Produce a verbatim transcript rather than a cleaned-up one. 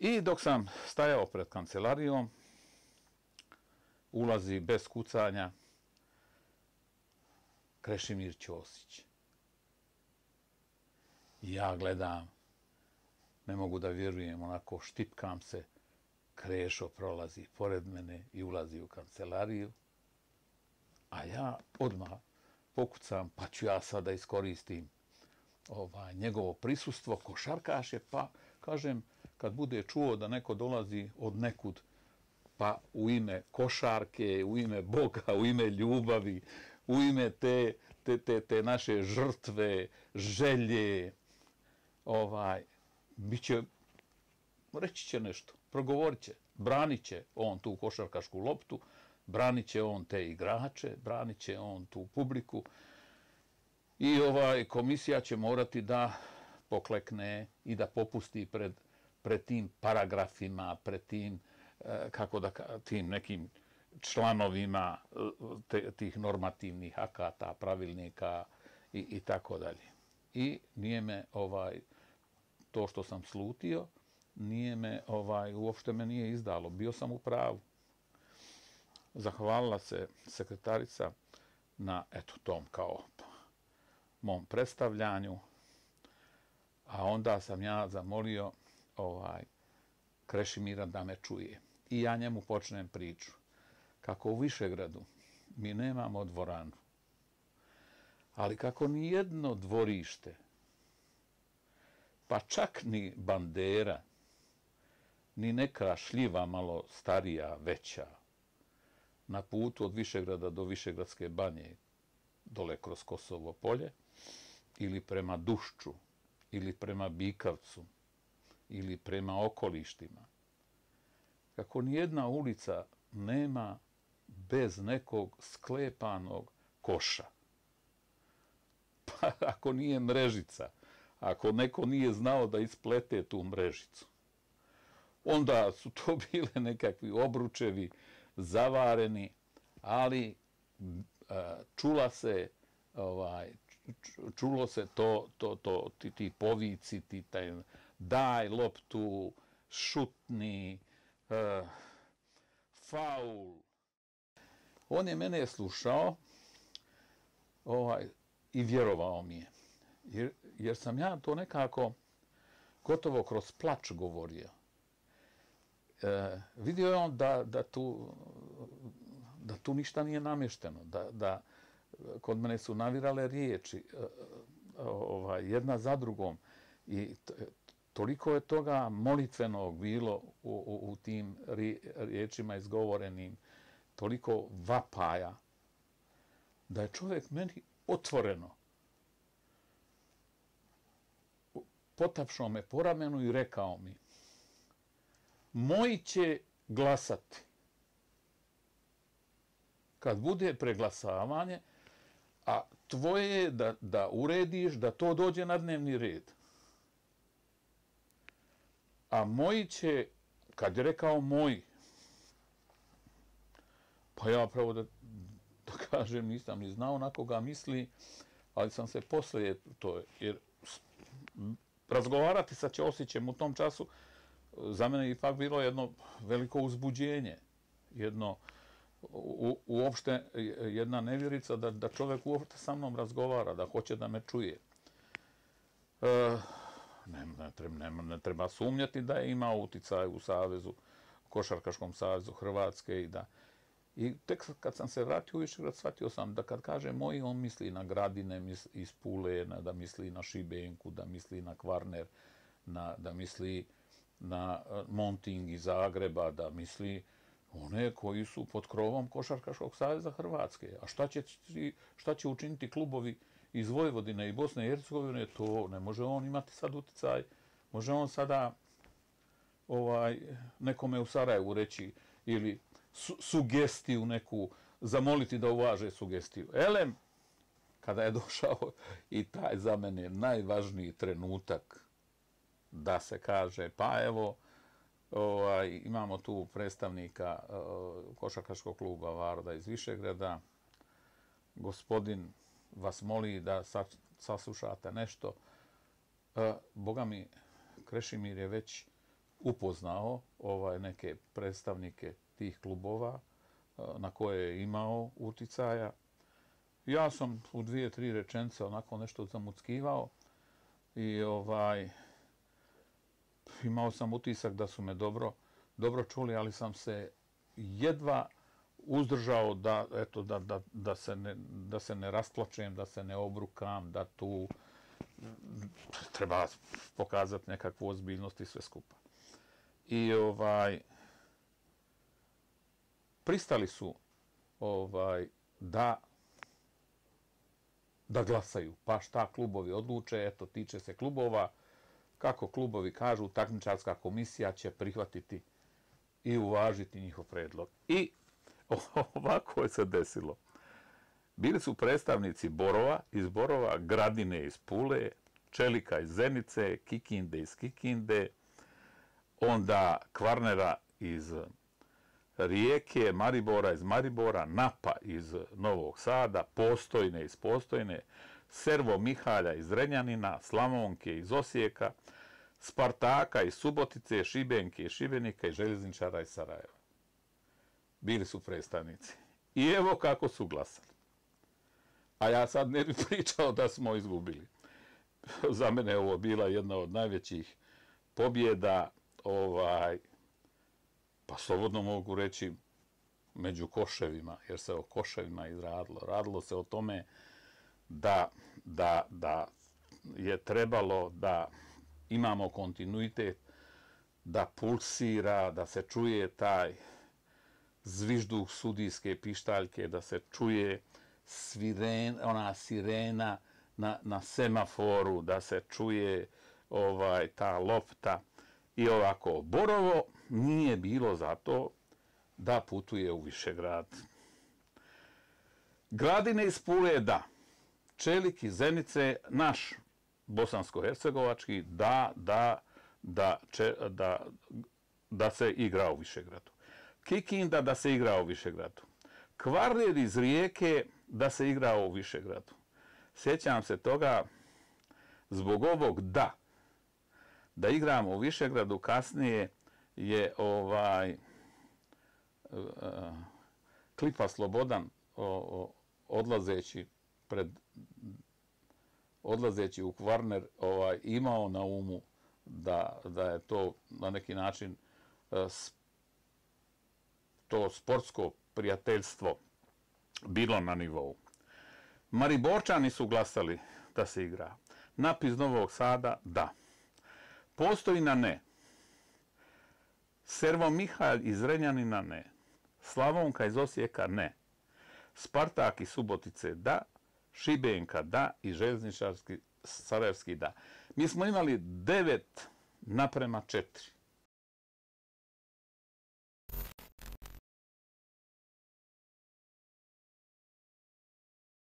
I dok sam stajao pred kancelarijom, ulazi bez kucanja Krešimir Ćosić. Ja gledam, ne mogu da vjerujem, onako štipkam se, Krešo prolazi pored mene i ulazi u kancelariju, a ja odmah pokucam, pa ću ja sada iskoristim ovaj, njegovo prisustvo, košarkaš je, pa kažem, kad bude čuo da neko dolazi od nekud, pa u ime košarke, u ime Boga, u ime ljubavi, u ime te, te, te, te naše žrtve, želje, ovaj, bit će, reći će nešto, progovorit će, branit će on tu košarkašku loptu, branit će on te igrače, branit će on tu publiku i ovaj, komisija će morati da poklekne i da popusti pred, pred tim paragrafima, pred tim, kako da, tim nekim članovima te, tih normativnih akata, pravilnika i, i tako dalje. I nije me ovaj, to što sam slutio, nije me, ovaj, uopšte me nije izdalo. Bio sam u pravu. Zahvalila se sekretarica na, eto, tom kao mom predstavljanju, a onda sam ja zamolio ovaj, Krešimira da me čuje. I ja njemu počnem priču. Kako u Višegradu mi nemamo dvoranu, ali kako ni jedno dvorište, pa čak ni bandera, ni neka šljiva malo starija, veća, na putu od Višegrada do Višegradske banje, dole kroz Kosovo polje, ili prema Dušču, ili prema Bikavcu, ili prema okolištima. Kako nijedna ulica nema bez nekog sklepanog koša. Pa ako nije mrežica, ako neko nije znao da isplete tu mrežicu, onda su to bile nekakvi obručevi, zavareni, ali čula se, ovaj, čulo se to, to, to, ti, ti povici, ti taj, daj loptu, šutni, uh, faul. On je mene slušao ovaj, i vjerovao mi je. Jer, jer sam ja to nekako gotovo kroz plač govorio. E, vidio je on da, da, tu, da tu ništa nije namješteno, da, da kod mene su navirale riječi ovaj, jedna za drugom i toliko je toga molitvenog bilo u, u, u tim riječima izgovorenim, toliko vapaja, da je čovjek meni otvoreno potapšao me po ramenu i rekao mi: moji će glasati. Kad bude preglasavanje, a tvoje je da, da urediš da to dođe na dnevni red. A moji će, kad je rekao moji, pa ja pravo da, da kažem, nisam ni znao na koga misli, ali sam se poslije to, jer razgovarati sa Ćosićem u tom času za mene je ipak bilo jedno veliko uzbuđenje, jedno u, uopšte jedna nevjerica da, da čovjek uopšte sa mnom razgovara, da hoće da me čuje. E, ne, ne, treba, ne, ne treba sumnjati da je imao uticaj u savezu, Košarkaškom savezu Hrvatske i da i tek kad sam se vratio u Višegrad, shvatio sam da kad kaže moji, on misli na Gradine misli iz Pule, na, da misli na Šibenku, da misli na Kvarner, na, da misli na Monting iz Zagreba, da misli one koji su pod krovom Košarkaškog saveza Hrvatske. A šta će, šta će učiniti klubovi iz Vojvodine i Bosne i Hercegovine, to ne može on imati sad uticaj. Može on sada ovaj, nekome u Sarajevu reći ili su, sugestiju neku, zamoliti da uvaže sugestiju. Elem, kada je došao i taj za mene najvažniji trenutak da se kaže, pa evo, ovaj, imamo tu predstavnika uh, Košarkaškog kluba Varda iz Višegrada, gospodin vas moli da saslušate nešto. Uh, Boga mi, Krešimir je već upoznao ovaj neke predstavnike tih klubova na koje je imao uticaja. Ja sam u dvije, tri rečenice onako nešto zamuckivao i ovaj, imao sam utisak da su me dobro, dobro čuli, ali sam se jedva uzdržao da, eto, da, da, da, se ne, da se ne rasplačem, da se ne obrukam, da tu treba pokazati nekakvu ozbiljnost i sve skupa. I ovaj, pristali su ovaj, da da glasaju, pa šta klubovi odluče, eto, tiče se klubova, kako klubovi kažu, takmičarska komisija će prihvatiti i uvažiti njihov predlog. I ovako je se desilo. Bili su predstavnici Borova, iz Borova, Gradine iz Pule, Čelika iz Zenice, Kikinde iz Kikinde, onda Kvarnera iz Rijeke, Maribora iz Maribora, Napa iz Novog Sada, Postojne iz Postojne, Servo Mihalja iz Renjanina, Slavonke iz Osijeka, Spartaka iz Subotice, Šibenke iz Šibenika i Željezničara iz Sarajeva. Bili su predstavnici. I evo kako su glasali. A ja sad ne bih pričao da smo izgubili. Za mene je ovo bila jedna od najvećih pobjeda, ovaj, pa slobodno mogu reći među koševima, jer se o koševima izradilo. Radilo se o tome da, da, da je trebalo da imamo kontinuitet, da pulsira, da se čuje taj zvižduh sudijske pištaljke, da se čuje sviren, ona sirena na, na semaforu, da se čuje ovaj, ta lopta. I ovako, Borovo nije bilo zato da putuje u Višegrad. Gradine iz Pule, da. Čelik iz Zenice, naš bosansko-hercegovački, da, da, da, da, da se igra u Višegradu. Kikinda da se igra u Višegradu. Kvarner iz Rijeke da se igra u Višegradu. Sjećam se toga zbog ovog da. Da igramo u Višegradu, kasnije je ovaj uh, Klipa Slobodan o, o, odlazeći pred odlazeći u Kvarner ovaj, imao na umu da, da je to na neki način uh, to sportsko prijateljstvo bilo na nivou. Mariborčani su glasali da se igra. Nap iz Novog Sada, da. Postojna, ne. Servo Mihalj iz Renjanina, ne. Slavonka iz Osijeka, ne. Spartak iz Subotice, da. Šibenka, da. I Željezničarski Sarajevski, da. Mi smo imali devet naprema četiri.